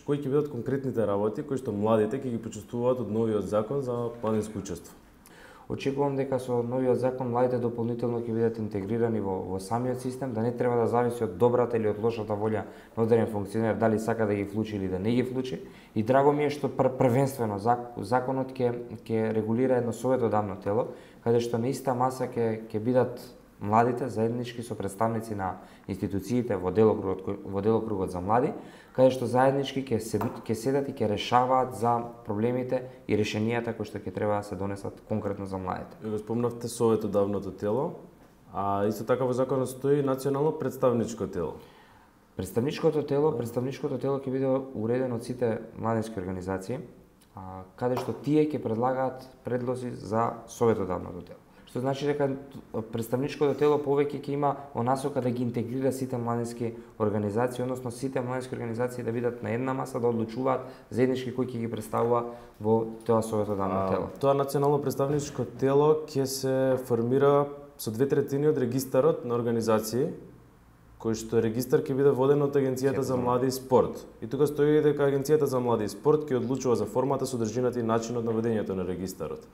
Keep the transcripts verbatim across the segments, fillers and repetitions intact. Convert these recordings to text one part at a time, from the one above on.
кои ќе бидат конкретните работи кои што младите ќе ги почувствуваат од новиот закон за планинско учество? Очекувам дека со новиот закон младите дополнително ќе бидат интегрирани во, во самиот систем, да не треба да зависи од добрата или од лошата волја на одреден функционер дали сака да ги вклучи или да не ги вклучи. И драго ми е што пр првенствено законот ќе ќе регулира едно советодавно тело, каде што на иста маса ќе ќе бидат младите заеднички со представници на институциите во делокругот во делокругот за млади, каде што заеднички ќе се ќе седат и ќе решаваат за проблемите и решенијата кои што ќе треба да се донесат конкретно за младите. Ја го спомнавте советодавното тело, а исто така во законот стои национално представничко тело. Представничкото тело, представничкото тело ќе биде уредено од сите младински организации, а, каде што тие ќе предлагаат предлози за советодавното тело. Што значи дека представничкото тело повеќе ќе има онасока да ги интегрира сите младински организации, односно сите младински организации да бидат на една маса, да одлучуваат заеднички кои ќе ги представува во тоа советодавно тело. Тоа национално представничко тело ќе се формира со две третини од регистарот на организации, кој што регистар ќе биде воден од Агенцијата за млади и спорт. И тука стои дека Агенцијата за млади и спорт ќе одлучува за формата, содржината и начинот на водењето на регистарот.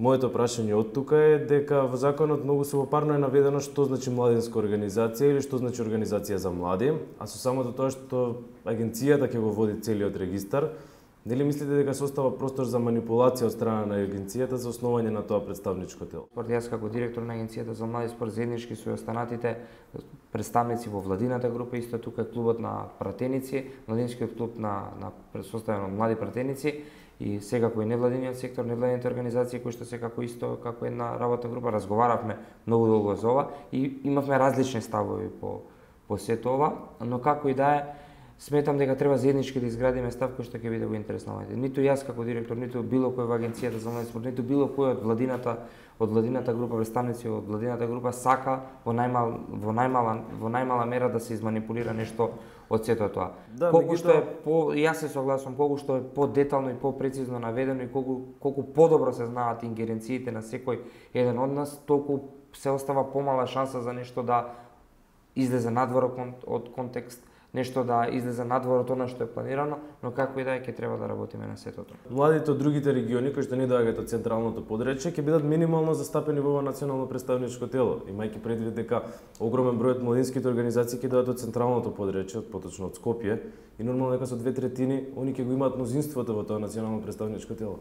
Моето прашање од тука е дека во законот многу субопарно е наведено што значи младинска организација или што значи организација за млади, а со самото тоа што агенцијата ќе го води целиот регистар, нели мислите дека се остава простор за манипулација од страна на агенцијата за основање на тоа представничко тело? Јас како директор на Агенцијата за млади спорт заеднички со останатите представници во владината група, исто тука е клубот на пратеници, младинскиот клуб на на составен од млади пратеници, и секако и невладиниот сектор, невладините организации кои што секако исто како една работна група разговаравме многу долго за ова и имавме различни ставови по по сето ова, но како и да е, сметам дека треба заеднички да изградиме став кој што ќе биде во интерес на младите. Ниту јас како директор, ниту било кој во Агенцијата за млади спорт, ниту било кој од владината од владината група, представници од владината група сака во најмал во најмала во најмала мера да се изманипулира нешто од сето тоа. Да, колку што е по јас се согласувам, колку што е подетално и попрецизно наведено и колку колку подобро се знаат ингеренциите на секој еден од нас, толку се остава помала шанса за нешто да излезе надвор од контекст, нешто да излезе надвор од она што е планирано, но како и да е, ќе треба да работиме на сето тоа. Младите од другите региони кои што не доаѓаат од централното подречје ќе бидат минимално застапени во ова национално представничко тело, имајќи предвид дека огромен број од младинските организации ќе доаѓаат од централното подречје, поточно од Скопје, и нормално дека со две третини они ќе го имаат мнозинството во тоа национално представничко тело.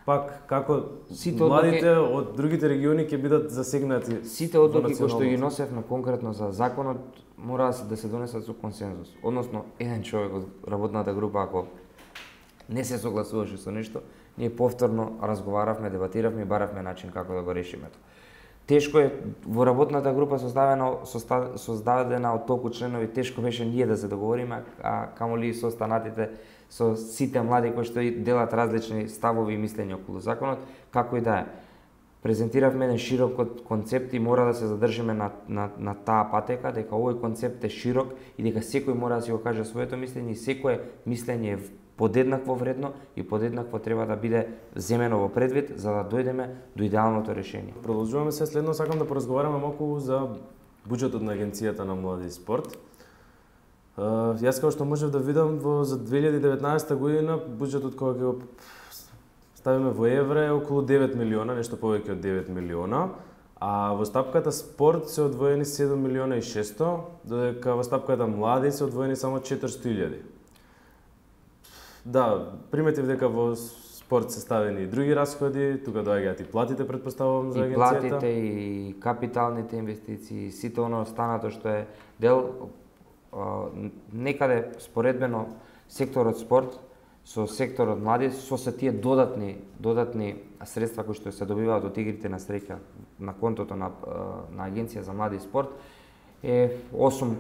Пак, како сите младите одлуки, од другите региони ќе бидат засегнати? Сите одлуки кои што ги носевме конкретно за законот мора да се донесат со консензус. Односно, еден човек од работната група ако не се согласуваше со нешто, ние повторно разговаравме, дебатиравме и баравме начин како да го решиме тоа. Тешко е во работната група составена создадена од толку членови, тешко беше ние да се договориме, а камоли со останатите, со сите млади кои што делат различни ставови и мислења околу законот, како и да е. Презентиравме еден широк концепт и мора да се задржиме на, на, на таа патека, дека овој концепт е широк и дека секој мора да си го каже своето мислење и секое мислење е подеднакво вредно и подеднакво треба да биде земено во предвид за да дојдеме до идеалното решение. Продолжуваме се следно, сакам да поразговараме малку за буџетот на Агенцијата на млади и спорт. Uh, јас како што можев да видам во за две илјади и деветнаесетта година буџетот кога ќе го ставиме во евра е околу девет милиона, нешто повеќе од девет милиона, а во стапката спорт се одвоени седум милиона и шесто, додека во стапката млади се одвоени само четиристотини илјади. Да, приметив дека во спорт се ставени и други расходи, тука доаѓаат и платите, предпоставувам, за агенцијата. И платите, и капиталните инвестиции, сите оно останато што е дел, некаде споредбено секторот спорт со секторот млади, со се тие додатни додатни средства кои што се добиваат од игрите на среќа на контото на на Агенција за млади и спорт е осум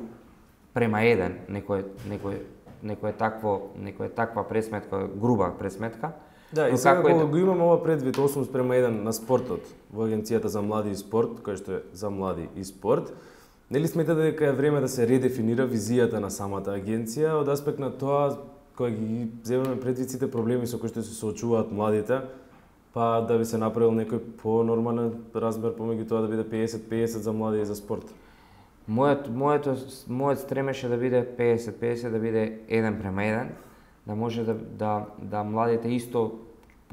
према еден, некој некој некој такво некој таква пресметка, груба пресметка. Да, и сега кога го имаме ова предвид осум спрема еден на спортот во Агенцијата за млади и спорт, кој што е за млади и спорт, нели сметате дека е време да се редефинира визијата на самата агенција од аспект на тоа кога ги земеме предвид сите проблеми со кои што се соочуваат младите, па да би се направил некој понормален размер помеѓу тоа да биде пеесет пеесет за млади и за спорт? Мојот моето мојот стремеше да биде педесет педесет, да биде еден према еден, да може да да да младите исто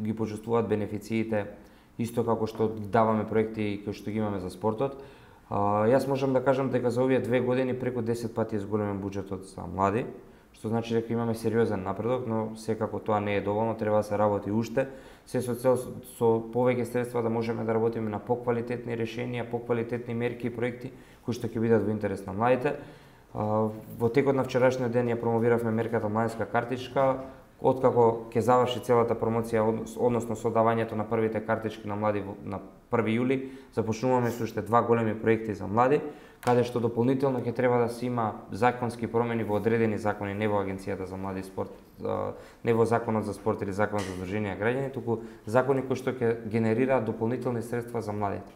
ги почувствуваат бенефициите, исто како што даваме проекти кои што ги имаме за спортот. А, јас можам да кажам дека за овие две години преку десет пати зголемен буџетот за млади, што значи дека имаме сериозен напредок, но секако тоа не е доволно, треба да се работи уште, се со цел со повеќе средства да можеме да работиме на поквалитетни решенија, поквалитетни мерки и проекти кои што ќе бидат во интерес на младите. Во текот на вчерашниот ден ја промовиравме мерката Младинска картичка, откако ќе заврши целата промоција, односно содавањето на првите картички на млади на први јули, започнуваме со уште два големи проекти за млади, каде што дополнително ќе треба да се има законски промени во одредени закони, не во Агенцијата за млади и спорт, не во Законот за спорт или Закон за здруженија граѓани, туку закони кои што ќе генерираат дополнителни средства за младите.